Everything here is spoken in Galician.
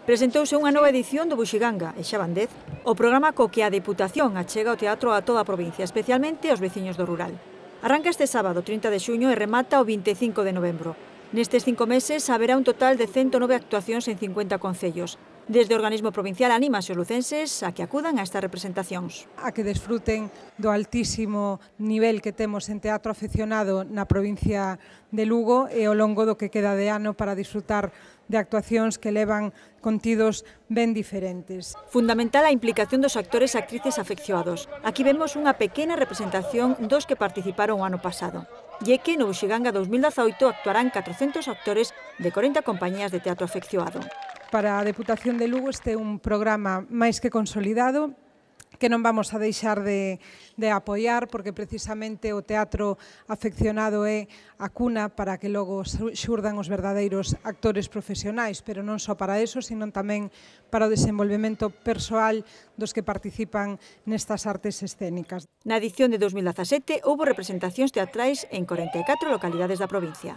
Presentouse unha nova edición do Buxiganga, e xa van 10, o programa co que a Deputación achega o teatro a toda a provincia, especialmente aos veciños do rural. Arranca este sábado, 30 de xuño, e remata o 25 de novembro. Nestes 5 meses haberá un total de 109 actuacións en 50 concellos. Desde o organismo provincial anímase os lucenses a que acudan a estas representacións. A que desfruten do altísimo nivel que temos en teatro afeccionado na provincia de Lugo e ao longo do que queda de ano para disfrutar de actuacións que levan contidos ben diferentes. Fundamental a implicación dos actores e actrices afeccionados. Aquí vemos unha pequena representación dos que participaron o ano pasado. E que no Buxiganga 2018 actuarán 400 actores de 40 compañías de teatro afeccionado. Para a Deputación de Lugo este é un programa máis que consolidado que non vamos a deixar de apoiar porque precisamente o teatro afeccionado é a cuna para que logo xurdan os verdadeiros actores profesionais, pero non só para eso, sino tamén para o desenvolvemento persoal dos que participan nestas artes escénicas. Na edición de 2017 houbo representacións teatrais en 44 localidades da provincia.